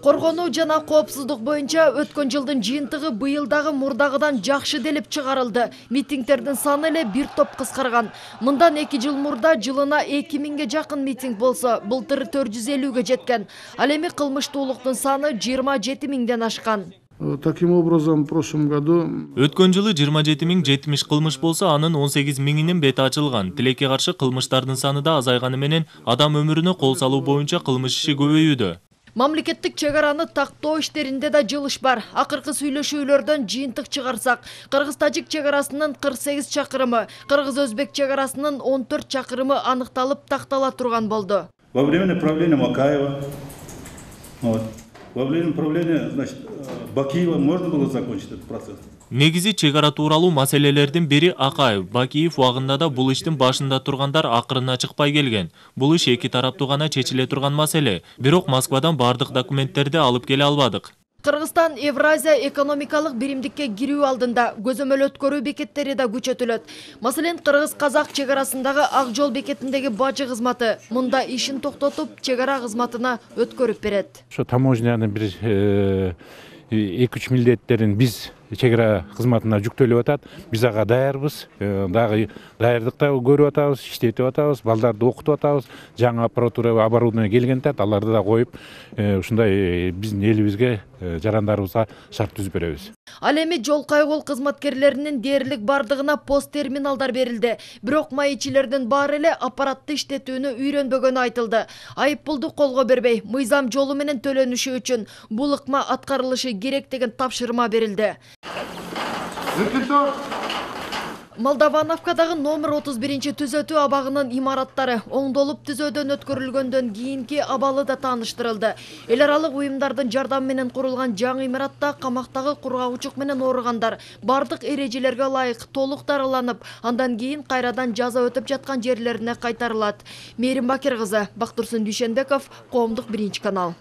Коргонуу жана коопсуздук боюнча өткөн жылдын жыйынтыгы быйылдагы мурдагыдан жакшы делип чыгарылды. Митингдердин саны эле бир топ кыскарган. Мындан 2 жыл мурда жылына 2000ге жакын митинг болсо, былтыр 450ге жеткен. Ал эми кылмыштуулуктун саны 27 миңден ашкан. Таким образом, в прошлом году өткөн жылы 27.070 кылмыш болсо, анын 18 миңинин бети ачылган. Тилекке каршы кылмыштардын саны да азайганы менен адам өмүрүнө кол салуу боюнча кылмыш иши көбөйүүдө. Мамлекеттик чегараны тактоо иштеринде да жылыш бар. Акыркы сүйлөшүүлөрдөн жыйынтык чыгарсак, Кыргыз-Тажик чегарасынын 48 чакырымы, Кыргыз-Өзбек чегарасынын 14 чакырымы аныкталып тактала турган болду. Во время правления Макаева, во время правления, Бакиева можно было закончить этот процесс? Негизи чегара тууралуу маселелердин бири Акаев. Бакиев убагында да бул иштин башында тургандар акырына чыкпай келген. Бул иш эки тараптуу гана чечиле турган маселе. Бирок Москвадан бардык документтерди алып келе албадык. Кыргызстан Евразия экономикалык биримдикке кирүү алдында көзөмөл өткөрүү бекеттери да күчөтүлөт. Маселен, Кыргыз-Казак чегарасындагы Ак жол бекетиндеги бажы кызматы мында ишин токтотуп, чегара кызматына өткөрүп берет. Ошо таможнянын бир 2-3 милдеттерин биз чегара кызматына жүктөлүп атат. Биз ага даярбыз. Дагы даярдыкта көрүп атабыз, иштетип атабыз, балдарды окутуп атабыз. Жаңы аппаратура, оборудование келген тат, аларды да коюп, ушундай биздин элибизге, жарандарыбызга шарт түзүп беребиз. Ал эми жол кайгыл кызматкерлеринин дээрлик бардыгына пост терминалдар берилди. Бирок маекчилердин баары эле аппаратты иштетүүнү үйрөнбөгөнү айтылды. Айыппулду колго бербей, мыйзам жолу менен төлөнүшү үчүн бул ыкма аткарылышы керек деген тапшырма берилди. Молдовановкадагы номер 31 түзөтүү абагынын имараттары оңдолуп түзөөдөн өткөрүлгөндөн кийинки абалы да тааныштырылды. Эл аралык уюмдардын жардамы менен курулган жаңы имаратта камактагы кургагучук менен ооругандар бардык эрежелерге ылайык толук дарыланып, андан кийин кайрадан жаза өтүп жаткан жерлерине кайтарылат. Мээрим Бакир кызы, Бактурсун Дүйшенбеков, Коомдук 1 канал.